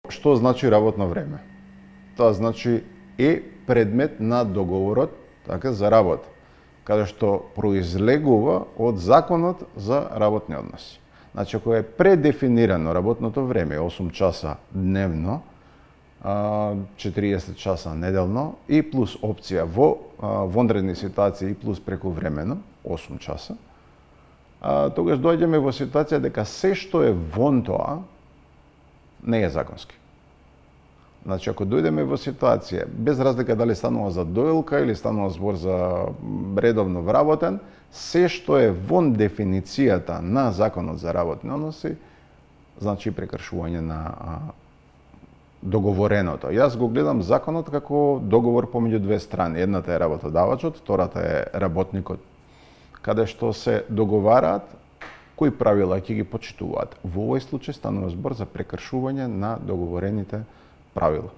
Што значи работно време? Тоа значи е предмет на договорот, така, за работа, каде што произлегува од законот за работни односи. Значи, ако е предефинирано работното време 8 часа дневно, 40 часа неделно и плюс опција во вонредни ситуации и плюс прековремено 8 часа, тогаш доаѓаме во ситуација дека се што е вон тоа не е законски. Значи, ако дојдеме во ситуација, без разлика дали станува за доилка или станува збор за редовно вработен, се што е вон дефиницијата на Законот за работни односи, значи прекршување на договореното. Јас го гледам законот како договор помеѓу две страни. Едната е работодавачот, втората е работникот, каде што се договараат кои правила ќе ги почитуваат. Во овој случај станува збор за прекршување на договорените правила.